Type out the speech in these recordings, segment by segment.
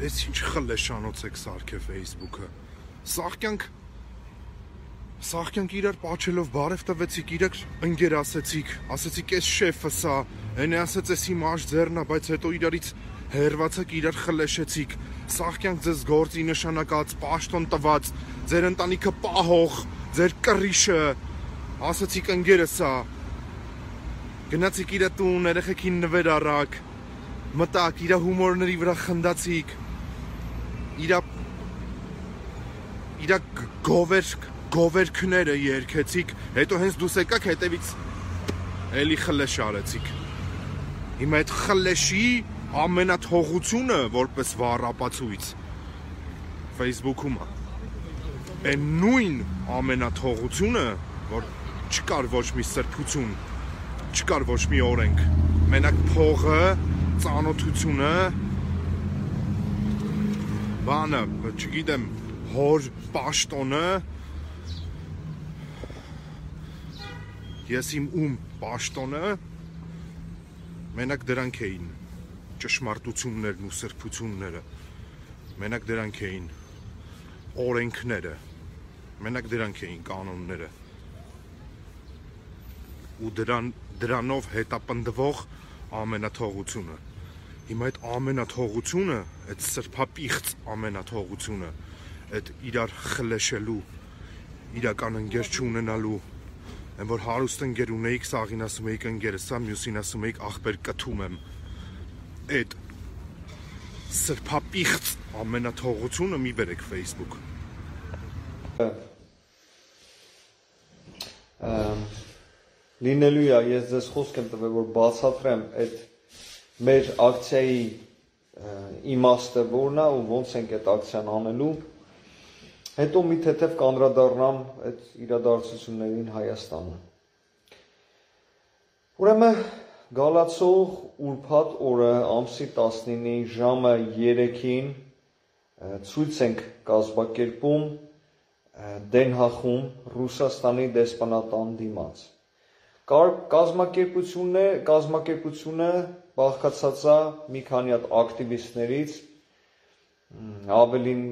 Էս ինչ խլեշանոց եք սարքե Facebook-ը։ Սաղկյանք իրար պաչելով բարև տվեցիք, իրար ընկեր ասեցիք էս շեֆը սա, հենե ասեց էս իմ աշ ձեռնա, բայց հետո իրարից հերվացեք, իրար խլեշեցիք, սաղկյանք ձեզ գործի նշանակած, պաշտոն տված, ձեր ընտանիքը պահող, ձեր կռիշը, ասեցիք ընկերը սա, գնացիք իրա տուն, երեխեքին նվեր առաք, մտակ, իրա հումորների վրա խնդացիք, իրա գովերքները երկեցիք, հետո հենց դուս եկաք հետևից էլի խլեշ արեցիք։ Հիմա այդ խլեշի ամենաթողությունը որպես վառ ապացույց Facebook-ում է։ Այն նույն ամենաթողությունը, որ չկար ոչ մի սրբություն, չկար ոչ մի օրենք, մենակ փողը, ծանոթությունը, բանը, չգիտեմ, հոր պաշտոնը, ես իմ պաշտոնը, մենակ դրանք էին ճշմարտություններն ու սրբությունները, մենակ դրանք էին օրենքները, մենակ դրանք էին կանոնները ու դրանով հետապնդվող ամենաթողությունը։ Հիմա այդ ամենաթողությունը, այդ սրբապիղծ ամենաթողությունը, այդ իրար խլեշելու, իրական ընկեր չունենալու, այն որ հարուստ ընկեր ունեիք, սաղին ասում էիք ընկերը սա, մյուսին ասում էիք ախպեր կթում եմ, այդ սրբապիղծ ամենաթողությունը մի բերեք Facebook։ Լինելու է, ես ձեզ խոսք եմ տվել, որ բացատրեմ այդ մեր ակցիայի իմաստը որն է ու ոնց ենք այդ ակցիան անելու, հետո մի թեթև կանդրադառնամ այդ իրադարձություններին Հայաստանում։ Ուրեմն գալացող ուրբաթ օրը ամսի 19-ի ժամը 3-ին ցույց ենք կազմակերպում Դենհախում Ռուսաստանի դեսպանատան դիմաց։ Կազմակերպությունը բաղկացած է մի քանի հատ ակտիվիստներից, ավելին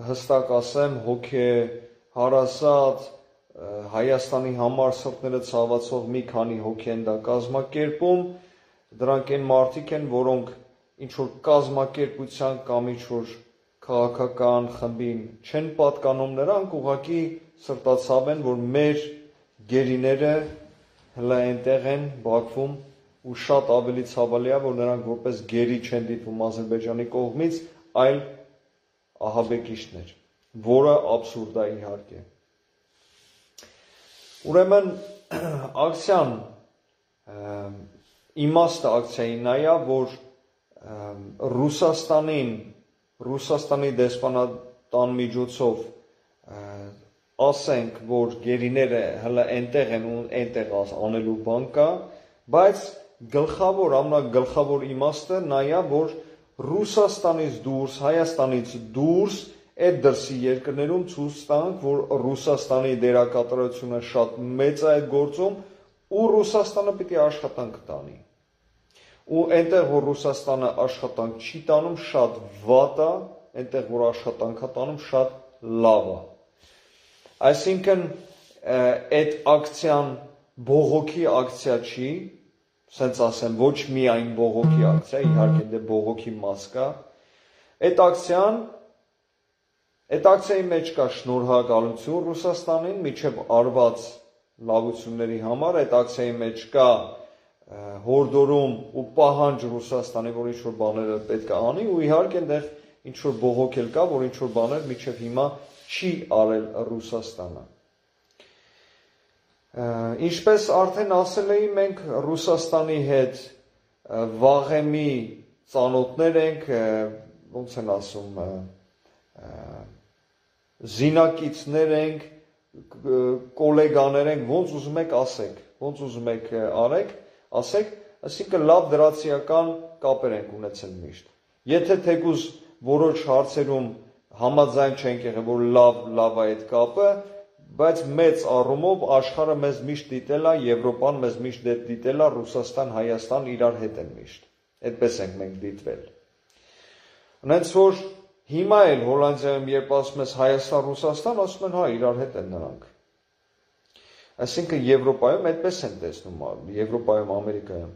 հստակ ասեմ, հոգեհարազատ Հայաստանի համար սրտները ցավացող մի քանի հոգի են դա կազմակերպում, դրանք այն մարդիկ են, որոնք ինչ որ կազմակերպության կամ ինչ որ քաղաքական խմբին չեն պատկանում, նրանք ուղղակի սրտացավ են, որ մեր գերիները հլա այնտեղ են Բաքվում ու շատ ավելի ցավալի է, որ նրանք որպես գերի չեն դիտվում Ադրբեջանի կողմից, այլ ահաբեկիչներ, որը աբսուրդ է իհարկե։ Ուրեմն ակցիան իմաստը ակցիայի նա է, որ Ռուսաստանի դեսպանատան միջոցով ասենք, որ գերիները հլա այնտեղ են ու այնտեղ անելու բան կա, բայց ամենագլխավոր իմաստը նա է, որ Ռուսաստանից դուրս, Հայաստանից դուրս այդ դրսի երկրներում ցույց տանք, որ Ռուսաստանի դերակատարությունը շատ մեծ է այդ գործում ու Ռուսաստանը պիտի աշխատանք տանի։ Ու այնտեղ, որ Ռուսաստանը աշխատանք չի տանում, շատ վատ է, այնտեղ, որ աշխատանք է տանում, շատ լավ է։ Այսինքն այդ ակցիան բողոքի ակցիա չի, սենց ասեմ, ոչ միայն բողոքի ակցիա, իհարկե դե բողոքի մաս կա։ Այդ ակցիայի մեջ կա շնորհակալություն Ռուսաստանին միջև արված լավությունների համար, այդ ակցիայի մեջ կա հորդորում ու պահանջ Ռուսաստանի, որ ինչ-որ բաները պետք է անի, ու իհարկե այնտեղ ինչ-որ բողոք էլ կա, որ ինչ-որ բաներ միջև հիմա չի արել Ռուսաստանը։ Ինչպես արդեն ասել էի, մենք Ռուսաստանի հետ վաղեմի ծանոթներ ենք, ոնց են ասում, զինակիցներ ենք, կոլեգաներ ենք, ոնց ուզում եք ասեք, ոնց ուզում եք ասեք, այսինքն լավ դրացիական կապեր ենք ունեցել միշտ։ Եթե թեկուզ որոշ հարցերում համաձայն չենք եղել, որ լավ է այդ կապը, բայց մեծ առումով աշխարհը մեզ միշտ դիտել է, Եվրոպան մեզ միշտ դիտել է, Ռուսաստան, Հայաստան իրար հետ են միշտ։ Այդպես ենք մենք դիտվել։ Հենց որ հիմա էլ Հոլանդիայում երբ ասում ես Հայաստան, Ռուսաստան, ասում են հա իրար հետ են նրանք։ Այսինքն Եվրոպայում այդպես են տեսնում, Եվրոպայում, Ամերիկայում։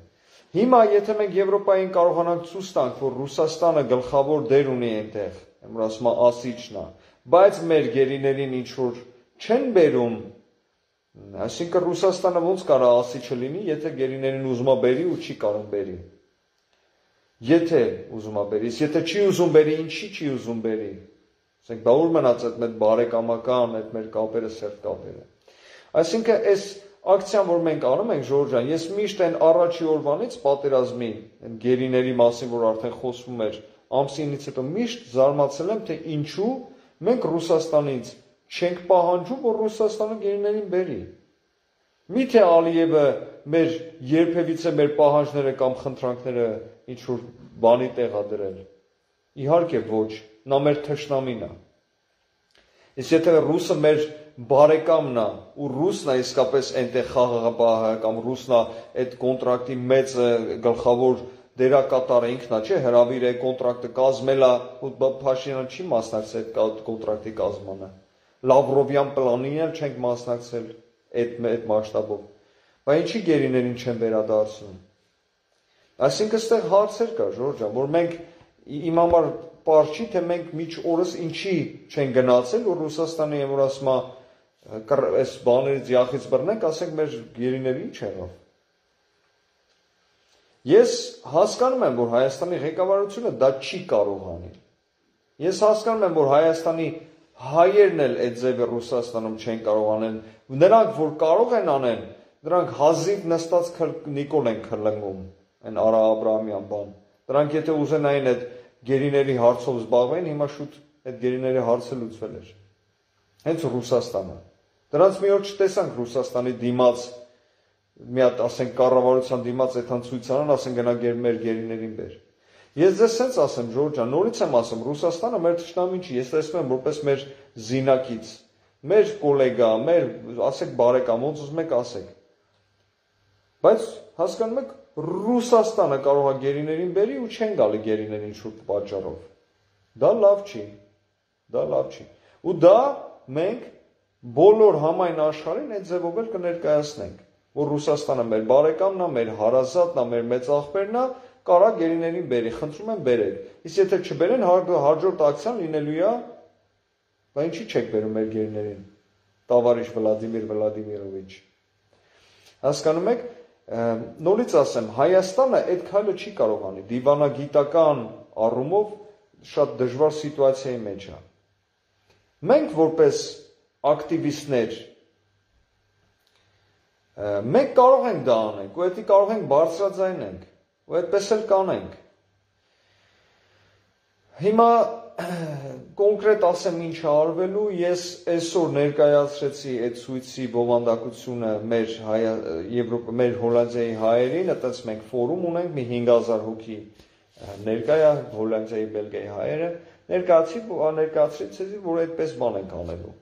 Հիմա եթե մենք Եվրոպային կարողանանք ցույց տանք, որ Ռուսաստանը գլխավոր դեր ունի այնտեղ, որ ասում է ասիճն է, բայց մեր գերիներին ինչ որ չեն բերում, այսինքն Ռուսաստանը ոնց կարա ասիճը լինի, եթե գերիներին ուզում է բերի ու չի կարող բերի։ Եթե ուզում է բերի, եթե չի ուզում բերի, ինչի չի ուզում բերի։ Ասենք դա ուր մնաց այդ մեր բարեկամական, այդ մեր կապերը, սերտ կապերը։ Այսինքն այս ակցիան, որ մենք անում ենք, Ժորժ ջան, ես միշտ այն առաջի օրվանից պատերազմի, այն գերիների մասին, որ արդեն խոսվում էր, ամսինից հետո միշտ զարմացել եմ, թե ինչու մենք Ռուսաստանից չենք պահանջում, որ Ռուսաստանը գերիներին բերի։ Միթե Ալիևը մեր երբևիցե մեր պահանջները կամ խնդրանքները ինչ որ բանի տեղ է դրել։ Իհարկե ոչ, նա մեր թշնամին է։ Իսկ եթե ռուսը մեր բարեկամն է ու ռուսն է իսկապես այնտեղ խաղաղապահը կամ ռուսն է այդ կոնտրակտի մեծ գլխավոր դերակատարը ինքն է, չէ, հրավիր է կոնտրակտը կազմել է, ու Փաշինյանը չի մասնակցել այդ կոնտրակտի կազմմանը։ Լավրովյան պլանին էլ չենք մասնակցել այդ մասշտաբով։ Բայց ինչի գերիներին չեն վերադարձնում։ Այսինքն այստեղ հարցեր կա, Ժորժ ջան, որ մենք իմ համար պարզ չի, թե մենք միջ օրս ինչի չեն գնացել, որ Ռուսաստանի եմ որ ասում է այս բաներից յախից բռնենք, ասենք մեր գերիների ինչ եղավ։ Ես հասկանում եմ, որ Հայաստանի ղեկավարությունը դա չի կարող անել։ Ես հասկանում եմ, որ Հայաստանի հայերն էլ այդ ձևը Ռուսաստանում չեն կարող անել։ Նրանք, որ կարող են անեն, նրանք հազիվ նստած Նիկոլ են քլնգում, այն Արա Աբրահամյան բան։ Նրանք եթե ուզենային այդ գերիների հարցով զբաղվեն, հիմա շուտ այդ գերիների հարցը լուծվել էր։ Հենց Ռուսաստանը։ Դրանց մի օր չտեսանք Ռուսաստանի դիմաց, մի հատ ասենք կառավարության դիմաց այդքան ցույցանան, ասեն գնա մեր գերիներին բեր։ Ես ձեզ սենց ասեմ, Ժորժ ջան, նորից եմ ասում, Ռուսաստանը մեր թշնամին չի, ես տեսնում եմ որպես մեր զինակից, մեր գոլեգա, մեր ասեք բարեկամ, ոնց ուզում եք ասեք։ Բայց հասկանում եք, Ռուսաստանը կարող է գերիներին բերի ու չեն գալի գերիներին շուտ պատճառով։ Դա լավ չի։ Դա լավ չի։ Ու դա մենք բոլոր համայն աշխարհին այդ ձևով էլ կներկայացնենք, որ Ռուսաստանը մեր բարեկամն է, մեր հարազատն է, մեր մեծ աղբերն է, կարա գերիներին բերի, խնդրում եմ բերեք։ Իսկ եթե չբերեն, հաջորդ ակցիան լինելու է, բայց ինչի չեք բերում մեր գերիներին։ Տավարիշ Վլադիմիր Վլադիմիրովիչ։ Հասկանում եք, նորից ասեմ, Հայաստանը այդ քայլը չի կարող անի, դիվանագիտական առումով շատ դժվար սիտուացիայի մեջ է։ Մենք որպես ակտիվիստներ մենք կարող ենք դա անենք, ու դա կարող ենք բարձրաձայնենք, ու այդպես էլ կանենք։ Հիմա կոնկրետ ասեմ ինչ է արվելու, ես այսօր ներկայացրեցի այդ ցույցի բովանդակությունը մեր Հոլանդիայի հայերին, այդպես մենք ֆորում ունենք, մի 5000 հոգի ներկայ է Հոլանդիայի, Բելգիայի հայերը, ներկայացրեցի, որ այդպես բան ենք անելու։